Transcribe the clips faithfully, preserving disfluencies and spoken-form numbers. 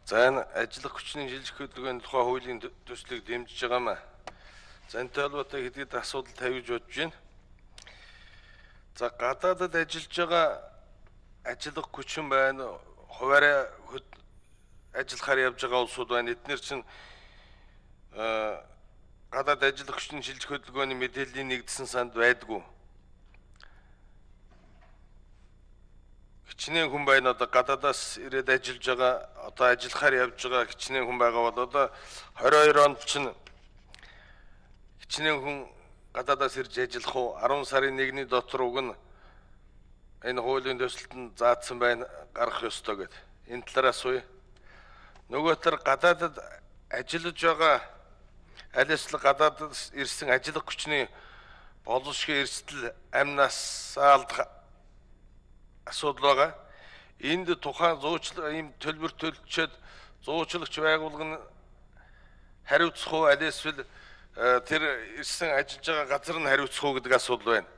За энэ ажиллах хүчний шилжих хөдөлгөөний тухай хуулийн төслийг дэмжиж байгаа маа. За энэ төлөвтэй хэдийд асуудал тавьж бодож байна. За гадаадад ажиллаж байгаа ажиллах хүчин байна, хуваарай ажиллахаар явж байгаа улсууд байна. Эдгээр чинь гадаад ажиллах хүчний шилжих хөдөлгөөний мэдээллийн нэгдсэн санд байдгүй. Хичнээн хүн байна одоо гадаадаас ирээд ажиллаж байгаа, одоо ажиллахаар явж байгаа хичнээн хүн байгаа бол одоо двадцать two онд чинь хичнээн хүн гадаадаас ирж ажиллах уу ten сарын нэгний дотор уг нь энэ хуулийн төсөлтөнд заасан байна гарах ёстой гэд. Энэ талаас уу. Нөгөө төр гадаадад ажиллаж байгаа аль эсвэл гадаадаас ирсэн ажиллах хүчний боловсролын эрсдэл амнаас алдах асуудал байгаа. Энд тухайн зуучлал ийм төлбөр төлчөөд зуучлагч байгуулгын хариуцах уу аль эсвэл тэр ирсэн ажиллаж байгаа газар нь хариуцах уу гэдэг асуудал байна.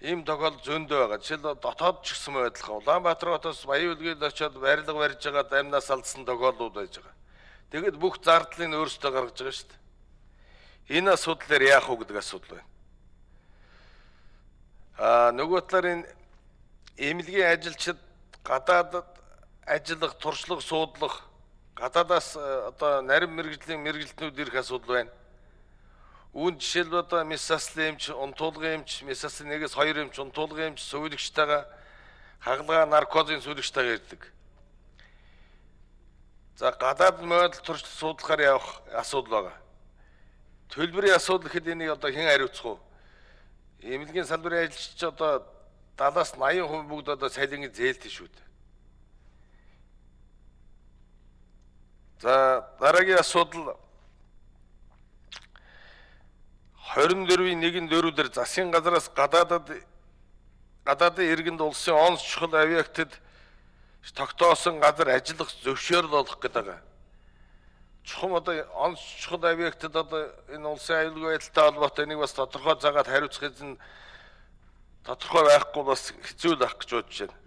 Ийм тохиолдол зөндөө байгаа. Жишээл дотоод ч гэсэн байдлаа. Улаанбаатар хотоос Баян үлгийд очиод барилга барьж байгаа дамнаас алдсан тохиолдлууд байж байгаа. Тэгэд бүх зардлыг өөрсдөө гаргаж байгаа шүү дээ. Энэ асуудлаар яах вэ гэдэг асуудал байна. Аа нөгөө талаар энэ эмнэлгийн ажилчид гадаадад ажиллах, туршлага суудлах, гадаадаас одоо нарийн мэрэгжлийн мэрэгжилтнүүд ирэх асуудал байна. Үүн жишээл одоо месаслын эмч, унтуулгын эмч, месаслын нэгээс хоёр эмч, унтуулгын эмч, сувилагчтайгаа хагалгаа наркозын сувилагчтайгаа ирдэг. За гадаад модал туршлага суудлахаар явах асуудал байгаа. Төлбөрийн асуудал гэхэд энийг одоо хэн хариуцах вэ? Эмнэлгийн салбарын ажилчид одоо далаас eighty percent бүгд одоо цалингийн зээлтэй шүү дээ. За дараагийн асуудал twenty-four-ийн one дөрвдөр засгийн газраас гадаадад гадаадын иргэнд улсын онц чухал объектэд тогтоосон газар ажиллах зөвшөөрөл олох гэдэг байгаа. Чухам одоо онц чухал объектэд одоо энэ улсын аюулгүй байдалтай холбоотой энийг бас тодорхой цагаад хариуцах эзэн тодорхой байхгүй бас хэцүү л ах гэж бодож байна.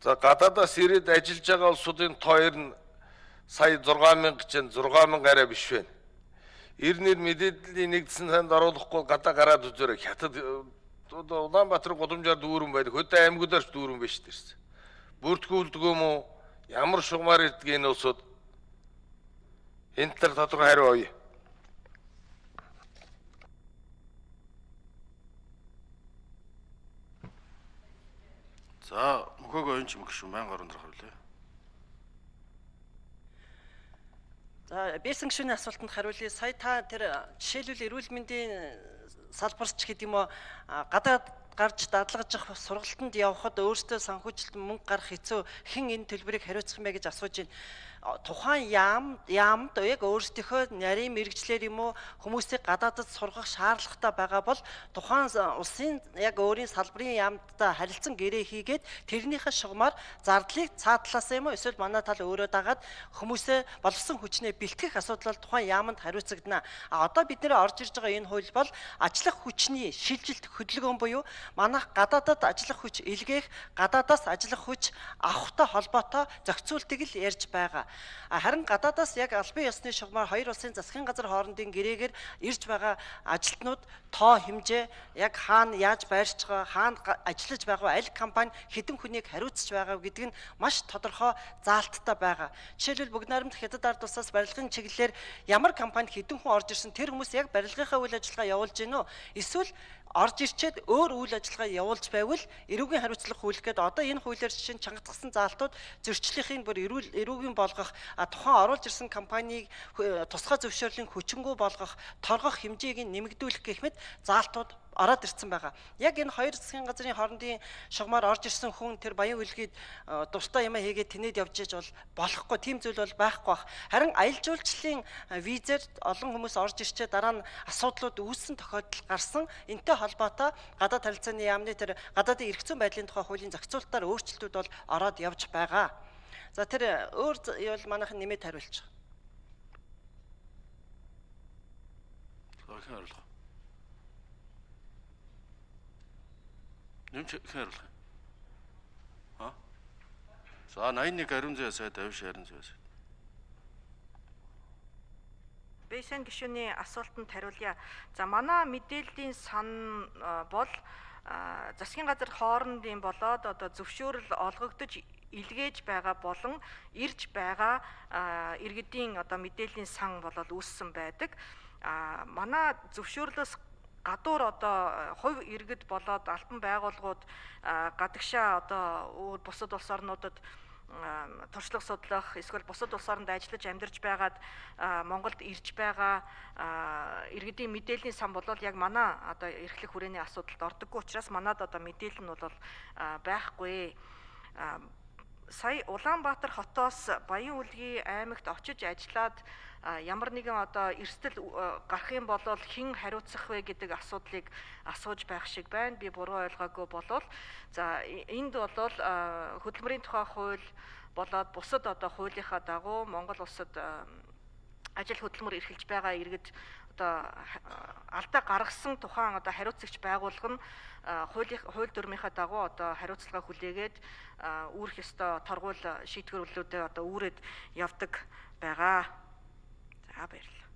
За гадаадаас ирээд ажиллаж байгаа улсуудын тоор нь сая six thousand гэж байна, six thousand арай биш байна. Ирнэр мэдээллийн нэгдсэн санд оруулахгүй гадаа гараад үзээрэй. Хятад Улаанбаатар гудамжаар дүүрэн байдаг. Хөдөө аймагудаар ч дүүрэн биш дээрс. Бүртгүүлдэг юм уу? Ямар шугамар ирдэг энэ улсууд? Энэ тал тодорхой хариу өгье. За мөхөөгөө энэ ч юм гişүн байнга орон дөрөх хүлээ. За бэсэн гişүний асуултанд хариулъя. Сая та тэр жишээлбэл эрүүл мэндийн салбарч гэдэг юм уу гадаад гарч дадлагаж явах сургалтанд явхад өөртөө санхүүжилт мөнгө гарах хэцүү хэн энэ төлбөрийг хариуцах юм бэ гэж асууж байна. Тухайн яам яамд яг өөрсдийнхөө нарийн мэрэгчлэр юм уу хүмүүсийг гадаадд сургах шаардлагатай байгаа бол тухайн улсын яг өөрийн салбарын яамдтай харилцан гэрээ хийгээд тэрнийхээ шугамар зардлыг цаадлаасаа юм уу эсвэл манай тал өөрөө дагаад хүмүүсээ боловсон хүчнээ бэлтгэх асуудал бол тухайн яамд хариуцагдана. А одоо бид нэр орж ирж байгаа энэ хууль бол ажиллах хүчний шилжилт хөдөлгөөн буюу манайх гадаадад ажиллах хүч илгээх, гадаадаас ажиллах хүч авахтай холбоотой зохицуултыг л ярьж байгаа. Харин гадаадаас яг албан ёсны шугамар хоёр улсын засгийн газар хоорондын гэрээгээр ирж байгаа ажилтнууд тоо хэмжээ яг хаана яаж байрч байгаа, хаана ажиллаж байгаа, аль компани хэдэн хүнийг хариуцж байгаа гэдэг нь маш тодорхой заалттай байгаа. Жишээлбэл Бүгд найрамдах Хятад ард улсаас барилгын чиглэлээр ямар компани хэдэн хүн орж ирсэн тэр хүмүүс яг барилгынхаа үйл ажиллагаа явуулж гинөө эсвэл орж ирчээд өөр үйл ажиллагаа явуулж байвал эрүүгийн хариуцлага хууль гэдэг одоо энэ хуулиар жишээ нь чангатгсан заалтууд зөрчлөлийн бүр эрүүл эрүүгийн болгох тухайн оруулж ирсэн компанийг тусгай зөвшөөрлийн хүчингү болгох торгох хэмжээг нэмэгдүүлэх гэх мэт заалтууд ороод ирсэн байгаа. Яг энэ хоёр засгийн газрын хоорондын шугамар орж ирсэн хүн тэр Баян үлгийд дуртай юм хийгээд тэнэд явж иж бол болохгүй, тийм зүйл бол байхгүй бах. Харин аялал жуулчлалын визээр олон хүмүүс орж ирчээ дараа нь асуудлууд үүссэн тохиолдол гарсан. Энтэй холбоотой гадаад харилцааны яамны тэр гадаадын эрх зүйн байдлын тухай хуулийн зохицуулалтаар өөрчлөлтүүд бол ороод явж байгаа. За тэр өөр бол манайхан нэмээд хариулж байгаа. Нэмж хариулах. Аа? За восемьдесят один ариун зэвэ сайд авиш ариун зэвэ сайд. Бэйсэн гишүүний асуултанд хариулъя. За манай мэдээллийн сан бол засгийн газар хоорондын болоод одоо зөвшөөрөл олгогдож илгээж байгаа болон ирж байгаа иргэдийн одоо мэдээллийн сан болол үүссэн байдаг. А манай зөвшөөрлөөс гадуур одоо хувь иргэд болоод албан байгууллагууд гадагшаа одоо бусад улс орнуудад туршлага судлах эсвэл бусад улс оронд ажиллаж амьдарч байгаад Монголд ирж байгаа иргэдийн мэдээллийн сан бол яг манай одоо эрхлэх хүрээний асуудалд ордоггүй учраас манад одоо мэдээлэл нь бол байхгүй. Сая Улаанбаатар хотоос Баян-Үлгийн аймагт очиж ажиллаад ямар нэгэн одоо эрсдэл гарах юм бол хэн хариуцах вэ гэдэг асуудлыг асууж байх шиг байна. Би буруу ойлгоогүй болвол за энд бол хөдөлмөрийн тухай хууль болоод бусад одоо хуулийнхаа дагуу Монгол улсад ажил хөдөлмөр эрхэлж байгаа иргэд одоо алдаа гаргасан тухайн одоо хариуцагч байгууллага нь хуулийн хууль дүрмийнхаа дагуу одоо хариуцлага хүлээгээд үүрэх ёстой торгуул шийдвэрлэлүүдээ одоо үүрээд явдаг байгаа. За баярлалаа.